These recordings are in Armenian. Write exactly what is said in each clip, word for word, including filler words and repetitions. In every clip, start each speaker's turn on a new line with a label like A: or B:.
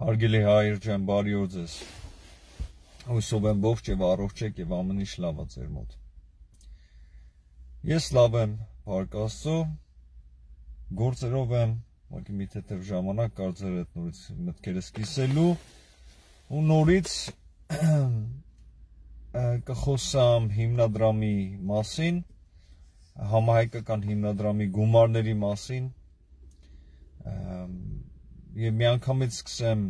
A: Հարգելի հայր ջան, բարի օր ձեզ։ Հույսով եմ ողջ եւ առողջ եք եւ ամեն ինչ լավ է ձեր մոտ։ Ես լավ եմ, փառք Աստծո, գործերով եմ, ուղղակի մի թեթև ժամանակ կար ձեր հետ նորից մտքերս կիսելու ու նորից կխոսամ հիմնադրամի մասին, համահայկական հիմնադրամի գումարների մասին եւ միանգամից սկսեմ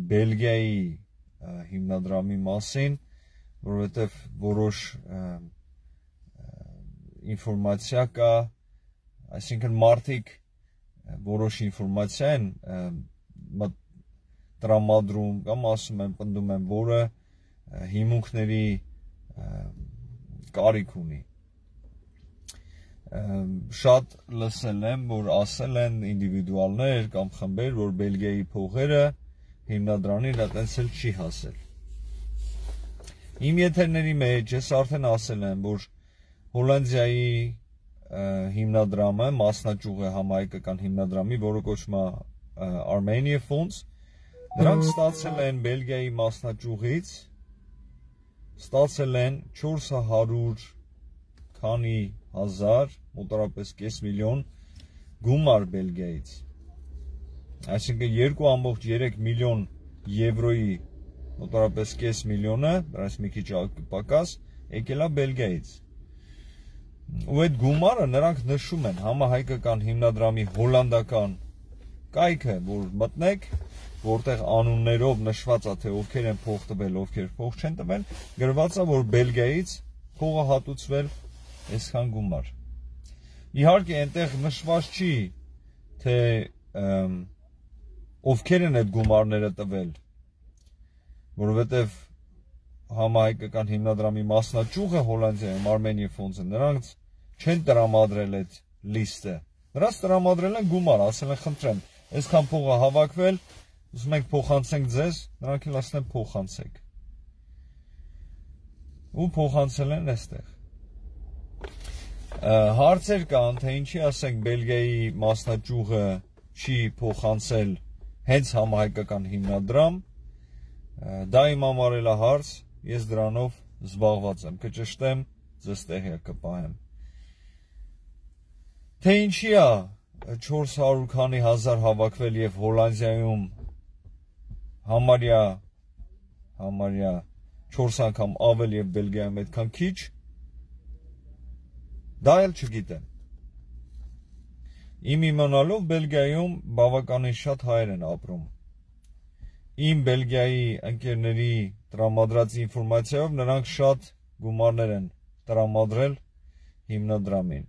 A: Բելգիայի հիմնադրամի մասին, որովհետեւ որոշ ինֆորմացիա կա, այսինքն մարդիկ որոշ ինֆորմացիա են տրամադրում կամ ասում են, պնդում են, որը հիմունքների կարիք ունի։ Շատ լսել եմ, որ ասել են ինդիվիդուալներ կամ խմբեր, որ Բելգիայի փողերը հիմնադրամին այտենց էլ չի հասել։ Իմ եթերների մեջ ես արդեն ասել եմ, որ Հոլանդիայի հիմնադրամը մասնաճյուղ է համահայկական հիմնադրամի, որը կոչվում է Armenia Funds, նրանք ստացել են Բելգիայի մասնաճյուղից, ստացել են չորս հարյուր քանի հազար, մոտավորապես կես միլիոն գումար Բելգիայից։ Այսինքն երկու ամբողջ երեք միլիոն եվրոյի մոտավորապես կես միլիոնը, դրանից մի քիչ պակաս, եկել է Բելգիայից։ Ու այդ գումարը նրանք նշում են համահայկական հիմնադրամի հոլանդական կայքը, որ մտնեք, որտեղ անուններով նշված է, թե ովքեր են փող տվել, ովքեր փող չեն տվել, գրված է, որ Բելգիայից փողը հատուցվել այսքան գումար։ Իհարկե, այնտեղ նշված չի, թե ովքեր են այդ գումարները տվել, որովհետև համահայկական հիմնադրամի մասնաճյուղը Հոլանդիայում Armenia Funds-ը, նրանց չեն տրամադրել այդ լիստը։ Նրանց տրամադրել են գումար, ասել են խնդրեմ, այսքան փողը հավաքվել, ուզում եք փոխանցենք ձեզ, նրանք էլ ասել են փոխանցեք։ Ու փոխանցել են այստեղ։ Հարցեր կան, թե ինչի ասենք Բելգիայի մասնաճյուղը չի փոխանցել հենց համահայկական հիմնադրամ, դա իմ համար է հարց, ես դրանով զբաղված եմ, կճշտեմ, ձեզ տեղյակ կպահեմ։ Թե ինչի է չորս հարյուր քանի հազար հավաքվել եւ Հոլանդիայում համարյա համարյա չորս անգամ ավել եւ Բելգիայում այդքան քիչ, դա էլ չգիտեմ։ Իմ իմանալով Բելգիայում բավականին շատ հայեր են ապրում։ Իմ Բելգիայի ընկերների տրամադրած ինֆորմացիայով նրանք շատ գումարներ են տրամադրել հիմնադրամին։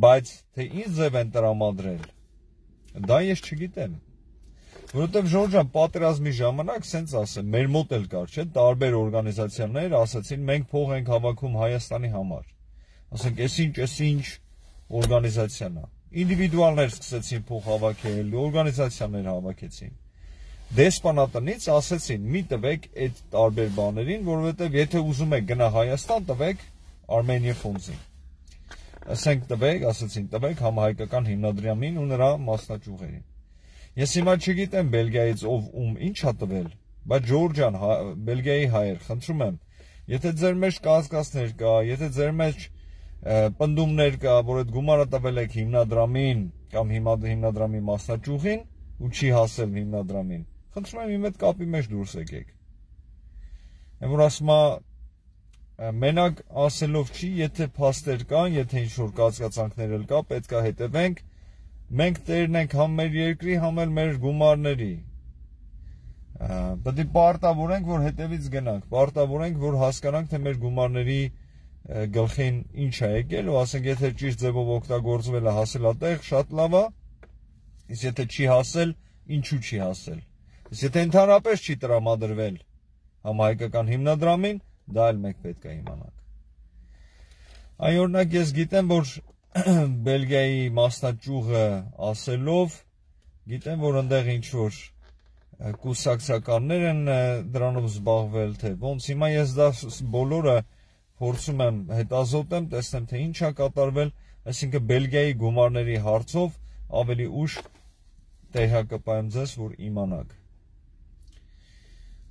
A: Բայց թե ինչ ձև են տրամադրել, դա ես չգիտեմ։ Որովհետև Ժորժան պատերազմի ժամանակ սենց ասեմ, մեր մոտ էլ կար, չէ՞, տարբեր օրգանիզացիաներ ասացին, մենք փող ենք հավաքում Հայաստանի համար։ Ասենք, այսինչ, այսինչ օրգանիզացիան է։ Ինդիվիդուալներ սկսեցին փող հավաքել, օրգանիզացիաներ հավաքեցին։ Դեսպանատնից ասեցին, մի տվեք այդ տարբեր բաներին, որովհետև եթե ուզում եք գնա Հայաստան, տվեք Armenia Funds-ին։ Ասենք տվեք, ասեցին, տվեք համահայկական հիմնադրամին ու նրա մասնաճյուղերին։ Ես հիմա չգիտեմ Բելգիայից ով ում ինչ է տվել, բայց Ժորժան, Բելգիայի հայեր, խնդրում եմ, եթե ձեր մեջ կասկածներ կա, եթե ձեր մեջ պնդումներ կա, որ այդ գումարը տվել եք հիմնադրամին կամ հիմնադրամի մասնաճյուղին ու չի հասել հիմնադրամին, խնդրում եմ իմ հետ կապի մեջ դուրս եկեք։ Եմ որ ասում է, մենակ ասելով չի, եթե փաստեր կան, եթե ինչ-որ կասկածանքներ էլ կա, պետք է հետևենք, մենք տերն ենք համ մեր երկրի, համ էլ մեր գումարների։ Պետք է պարտավորենք, որ հետևից գնանք, պարտավորենք, որ հասկանանք, թե մեր գումարների գլխին ինչ է եկել, ու ասենք, եթե ճիշտ ձևով օգտագործվել է, հասել է տեղ, շատ լավ է, իսկ եթե չի հասել, ինչու չի հասել։ Իսկ եթե ընդհանրապես չի տրամադրվել համահայկական հիմնադրամին, դա էլ մենք պետք է իմանանք։ Այ օրինակ ես գիտեմ, որ Բելգիայի մասնաճյուղը ասելով, գիտեմ, որ ընդեղ ինչ-որ կուսակցականներ են դրանով զբաղվել, թե ոնց, հիմա ես դա բոլորը փորձում եմ հետազոտեմ, տեսնեմ, թե ինչ է կատարվել, այսինքն Բելգիայի գումարների հարցով ավելի ուշ տեղակայեմ ձեզ, որ իմանաք։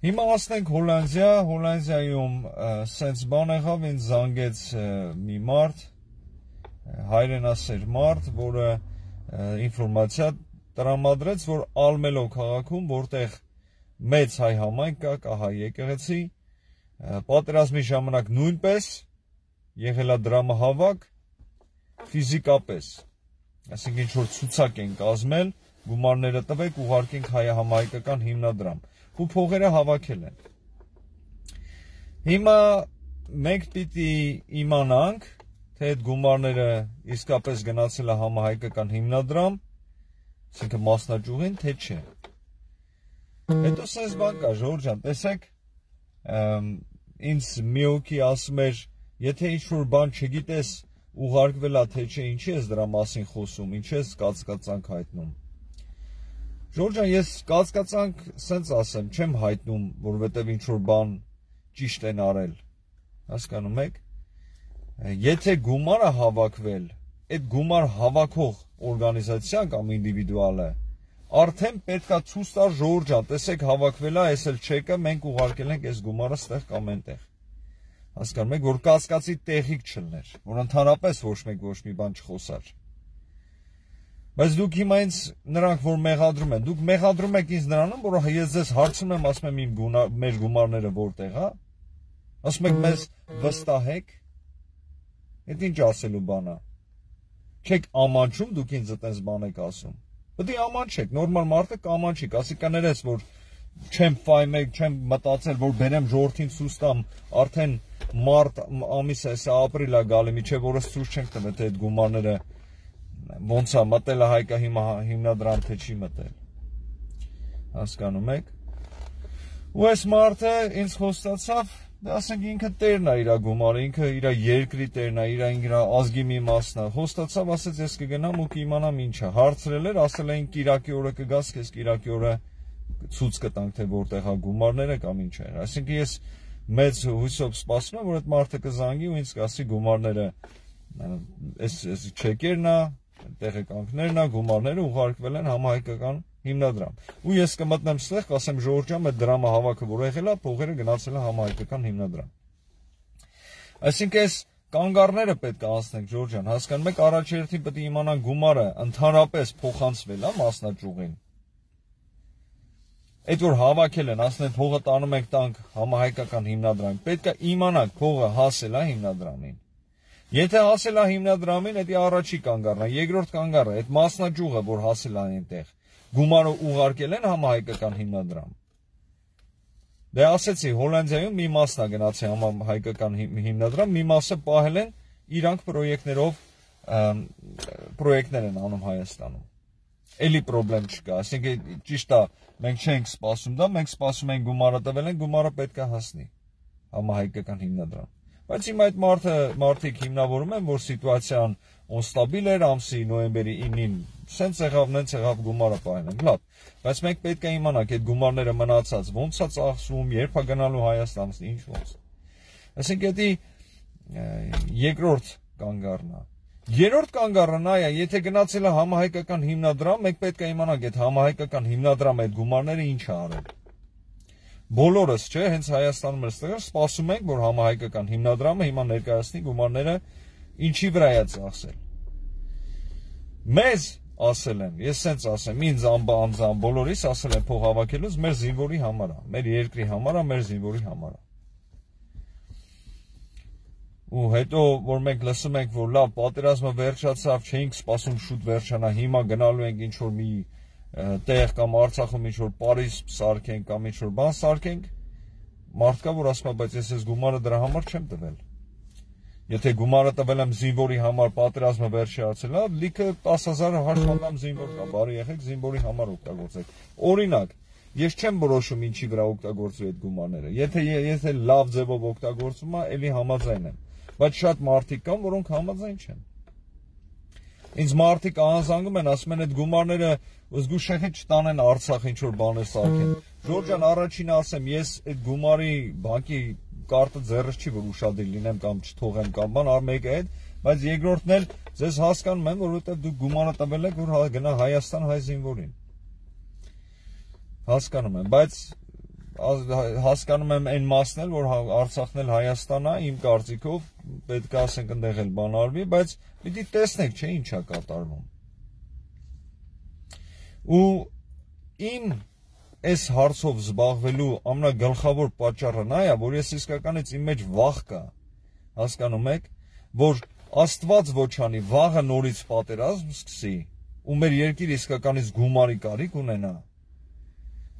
A: Հիմա ասենք Հոլանդիա, Հոլանդիայում սենց բան եղավ, ինձ զանգեց մի մարդ, հայրենասեր մարդ, որը ինֆորմացիա տրամադրեց, որ Ալմելո քաղաքում, որտեղ մեծ հայ համայնք կա, կա հայ եկեղեցի, պատերազմի ժամանակ նույնպես եղել է դրամահավաք ֆիզիկապես, այսինքն ինչ-որ ցուցակ են կազմել, գումարները տվեք, ուղարկենք հայահամայկական հիմնադրամ, ու փողերը հավաքել են։ Հիմա մենք պիտի իմանանք, թե այդ գումարները իսկապես գնացել է համահայկական հիմնադրամ, այսինքն մասնաճյուղին, թե չէ։ Հետո սենց բան կա, Ժորժ ջան, տեսեք, ինձ մի օքի ասում էր, եթե ինչ-որ բան չգիտես, ուղարկվել է, թե չէ, ինչի ես դրա մասին խոսում, ինչ ես կասկածանք հայտնում։ Ժորժ ջան, ես կասկածանք սենց ասեմ, չեմ հայտնում, որովհետև ինչ-որ բան ճիշտ են արել, հասկանում եք։ Եթե գումարը հավաքվել, այդ գումար հավաքող օրգանիզացիան կամ ինդիվիդուալը, արդեն պետքա ցույց տա Ժորժ ջան, տեսեք հավաքվել է, այս էլ չեկը, մենք ուղարկել ենք այս գումարը ստեղ կամ այնտեղ։ Հասկանում եք, որ կասկածի տեղիք չլներ, որ ընդհանրապես ոչ մեկ ոչ մի բան չխոսար։ Բայց դուք հիմա ինձ նրանք, որ մեղադրում են, դուք մեղադրում եք ինձ նրանում, որ ես ձեզ հարցում եմ, ասում եմ իմ մեր գումարները որտեղ է, ասում եք մեզ վստահեք, այդ ինչ ասելու բան է։ Չեք ամանչում, դուք ինձ այդպես բան եք ասում։ Պետք է ամանչեք, նորմալ մարդը կամանչի, ասի կներես, որ չեմ ֆայմել, չեմ մտածել, որ բերեմ ժողովրդին ցույց տամ, արդեն մարտ ամիս է, սա ապրիլ է գալի, միջև օրս ցույց չենք տվել, թե այդ գումարները ոնց է մտել է հայկա հիմնադրամ, թե չի մտել։ Հասկանում եք։ Ու այս մարդը ինձ խոստացավ, ասենք ինքը տերն է իր գումարը, ինքը իր երկրի տերն է, իր ազգի մի մասն է, խոստացավ, ասեց ես կգնամ ու կիմանամ ինչ է, հարցրել էր, ասել էին կիրակի օրը կգաս, քեզ կիրակի օրը ցույց կտանք, թե որտեղ է գումարները կամ ինչ է։ Այսինքն ես մեծ հույսով սպասում եմ, որ այդ մարդը կզանգի ու ինձ կասի գումարները, այս չեկերն է, տեղեկանքներն է, գումարները ուղարկվել են համահայկական հիմնադրամ։ Ու ես կմտնեմ ստեղ, կասեմ Ժորժ ջան, այդ դրամը հավաքը որ եղել է, փողերը գնացել է համահայկական հիմնադրամ։ Այսինքն այս կանգառները պետք է անցնենք, Ժորժ ջան, հասկանում եք, առաջերտին պետք է իմանանք գումարը ընդհանրապես փոխանցվել է մասնաճյուղին։ Այդ որ հավաքել են, ասեն փողը տանում ենք տանք համահայկական հիմնադրամին, պետք է իմանանք փողը հասել է հիմնադրամին։ Եթե հասել է հիմնադրամին, դա առաջի կանգառն է, երկրորդ կանգառը, այդ մասնաճյուղը, որ հասել է այնտեղ, գումարը ուղարկել են համահայկական հիմնադրամ։ Դե ասեցի, Հոլանդիայում մի մասն է գնացել համահայկական հիմնադրամ, մի մասը պահել են իրանք պրոյեկտներով, պրոյեկտներ են անում Հայաստանում։ Էլի պրոբլեմ չկա, այսինքն ճիշտ է, մենք չենք սպասում դա, մենք սպասում ենք գումարը տվել են, գումարը պետք է հասնի համահայկական հիմնադրամ։ Բայց հիմա այդ մարդը մարդիկ հիմնավորում են, որ սիտուացիան անստաբիլ էր, ամսի նոյեմբերի ինին, սենց եղավ, նենց եղավ գումարը պահել են, լավ, բայց մենք պետք է իմանանք այդ գումարները մնացած ոնց է ծախսվում, երբ է գնալու Հայաստան, ինչ ոնց։ Այսինքն դա երկրորդ կանգառն է։ Երրորդ կանգառը նա է, եթե գնացել է համահայկական հիմնադրամ, մենք պետք է իմանանք այդ համահայկական հիմնադրամը այդ գումարները ինչ է արել։ Բոլորս, չէ, հենց Հայաստանում ստեղ սպասում ենք, որ համահայկական հիմնադրամը հիմա ներկայացնի գումարները ինչի վրա է ծախսել։ Մեզ ասել են, ես սենց ասեմ, ինձ անձամբ բոլորիս ասել են փող հավաքելուց մեր զինվորի համար է, մեր երկրի համար է, մեր զինվորի համար է։ Ու հետո, որ մենք լսում ենք, որ լավ, պատերազմը վերջացավ, չէինք սպասում շուտ վերջանա, հիմա գնալու ենք ինչ-որ մի տեղ կամ Արցախում ինչ-որ Պարիզ սարքենք կամ ինչ-որ բան սարքենք, մարդկա, որ ասում է, բայց ես ես գումարը դրա համար չեմ տվել։ Եթե գումարը տվել եմ զինվորի համար, պատերազմը վերջացել է, լիքը տասը հազար հաշվանդամ զինվոր կա, բարի եղեք, զինվորի համար օգտագործեք։ Օրինակ, ես չեմ որոշում ինչի վրա օգտագործվի այդ գումարները։ Եթե եթե լավ ձևով օգտագործվում է, էլի համաձայն եմ։ Բայց շատ մարդիկ կան, որոնք համաձայն չեն։ Ինձ մարդիկ անզանգում են, ասում են այդ գումարները զգուշահետ չտանեն Արցախ ինչ-որ բաներ սարքեն։ Ժորժ ջան, առաջինը ասեմ, ես այդ գումարի բանկի կարտը ձեռս չի, որ ուշադիր լինեմ կամ չթողեմ կամ բան, առ մեկը այդ, բայց երկրորդն էլ ձեզ հասկանում եմ, որովհետև դուք գումարը տվել եք, որ գնա Հայաստան հայ զինվորին։ Հասկանում եմ, բայց հասկանում եմ այն մասն էլ, որ Արցախն էլ Հայաստան է, իմ կարծիքով պետք է ասենք այնտեղ էլ բան արվի, բայց պիտի տեսնենք, չէ, ինչ է կատարվում։ Ու իմ այս հարցով զբաղվելու ամենագլխավոր պատճառը նա է, որ ես իսկականից իմ մեջ վախ կա, հասկանում եք, որ Աստված ոչ անի, վաղը նորից պատերազմ սկսի, ու մեր երկիրը իսկականից գումարի կարիք ունենա։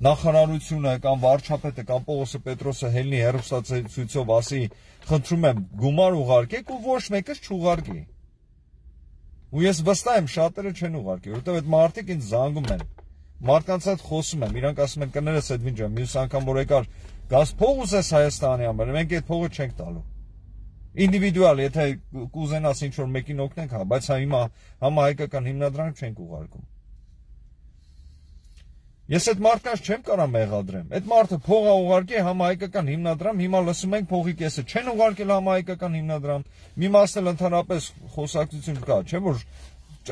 A: Նախարարությունը կամ վարչապետը կամ Պողոսը Պետրոսը հելնի հեռուստացույցով ասի, խնդրում եմ գումար ուղարկեք ու ոչ մեկս չուղարկի։ Ու ես վստահ եմ շատերը չեն ուղարկի, որովհետև այդ մարդիկ ինձ զանգում են։ Մարդկանց հետ խոսում եմ, իրանք ասում են կներես այդ վինջը, մյուս անգամ որ եկար, գազ փող ուզես Հայաստանի համար, մենք այդ փողը չենք տալու։ Ինդիվիդուալ, եթե կուզենաս ինչ որ մեկին օգնենք, հա, բայց հիմա համահայկական հիմնադրանք չենք ուղարկում։ Ես այդ մարդկանց չեմ կարող մեղադրեմ։ Այդ մարդը փող է ուղարկի համահայկական հիմնադրամ, հիմա լսում ենք փողի կեսը չեն ուղարկել համահայկական հիմնադրամ։ Մի մասն էլ ընդհանրապես խոսակցություն կա, չէ՞ որ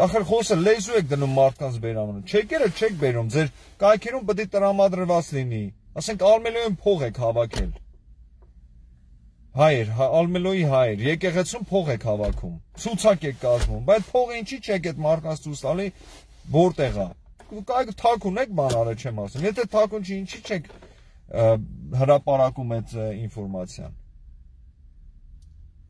A: ախր խոսը լեզու եք դնում մարդկանց բերամանը։ Չեկերը չեք բերում, ձեր կայքերում պետք է տրամադրված լինի։ Ասենք Ալմելոյում փող եք հավաքել։ Հայեր, Ալմելոյի հայեր, եկեղեցում փող եք հավաքում, ցուցակ եք կազմում, բայց փողը ինչի չեք այդ մարդկանց ցույց տալի, որտեղ է։ Թաքուն եք բան արել չեմ ասում։ Եթե թաքուն չի, ինչի չեք հրապարակում այդ ինֆորմացիան։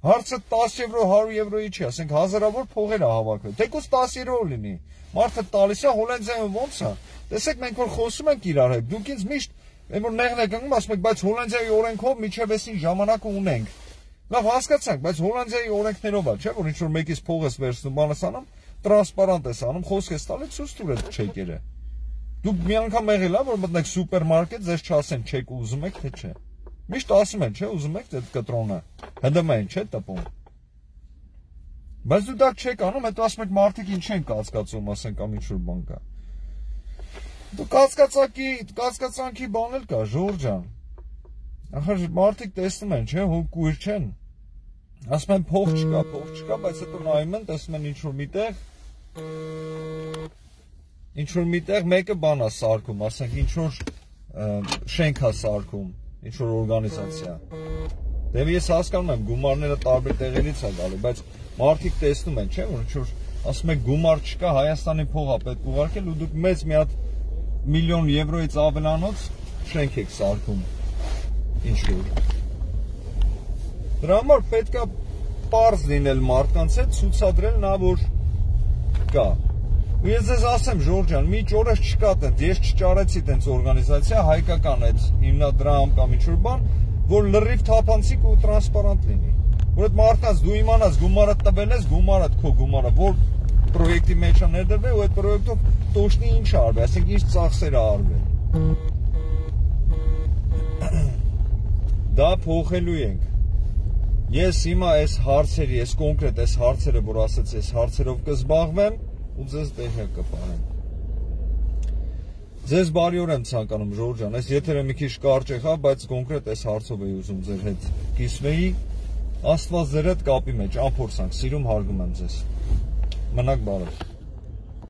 A: Հարցը տասը եվրո, հարյուր եվրոյի չի, ասենք հազարավոր փողեր է հավաքվել։ Թեկուզ տասը եվրո լինի։ Մարդը տալիս է Հոլանդիայում ոնց է։ Տեսեք, մենք որ խոսում ենք իրար հետ, դուք ինձ միշտ Եմ որ նեղն եք ընկնում, ասում եք, բայց Հոլանդիայի օրենքով միջև էսին ժամանակը ունենք։ Լավ հասկացանք, բայց Հոլանդիայի օրենքներով է, չէ՞ որ ինչ որ մեկից փող ես վերցնում, բանս անում, տրանսպարանտ ես անում, խոսք ես տալիս, ցույց տուր այդ չեկերը։ Դուք մի անգամ եղել ա, որ մտնեք սուպերմարկետ, ձեզ չասեն չեք ուզում եք, թե չէ։ Միշտ ասում են, չէ, ուզում եք այդ կտրոնը։ ՀԴՄ-ին չէ՞ տպում։ Բայց դու դա չեք անում, հետո ասում եք մարդիկ ինչ են կասկածում, ասենք կամ ինչ որ բան կա։ Դու կասկածակի, կասկածանքի բան էլ կա, Ժորժ ջան։ Ախր մարդիկ տեսնում են, չէ, հո կույր չեն։ Ասում են փող չկա, փող չկա, բայց հետո նայում են, տեսնում են ինչ որ միտեղ ինչ որ միտեղ մեկը բան է սարքում, ասենք ինչ որ շենք է սարքում, ինչ որ օրգանիզացիա։ Դե ես հասկանում եմ, գումարները տարբեր տեղերից է գալու, բայց մարդիկ տեսնում են, չէ, որ ինչ որ ասում են գումար չկա, Հայաստանի փող է պետք ուղարկել ու դուք մեծ մի հատ միլիոն եվրոից ավելանոց շենք եք սարքում ինչ-որ։ Դրա համար պետք է պարզ լինել մարդկանց հետ, ցուցադրել նա, որ կա։ Ու ես ձեզ ասեմ, Ժորժ ջան, մի ճորես չկա տենց, ես չճարեցի տենց օրգանիզացիա, հայկական այդ հիմնադրամ կամ ինչ-որ բան, որ լրիվ թափանցիկ ու տրանսպարանտ լինի։ Որ այդ մարդկանց դու իմանաս գումարը տվել ես, գումարը քո գումարը, որ պրոյեկտի մեջ է ներդրվել ու այդ պրոյեկտով տոշնի ինչ արվել, ասենք ինչ ծախսեր է արվել։ Դա փոխելու ենք։ Ես հիմա այս հարցերի, այս կոնկրետ այս հարցերը, որ ասացի, այս հարցերով կզբաղվեմ ու ձեզ տեղյակ կպահեմ։ Ձեզ բարի օր եմ ցանկանում, Ժորժ ջան, այս եթերը մի քիչ կարճ եղավ, բայց կոնկրետ այս հարցով էի ուզում ձեր հետ կիսվեի։ Աստված ձեր հետ կապի մեջ, անփորձանք, սիրում հարգում եմ ձեզ։ Մնաք բարով։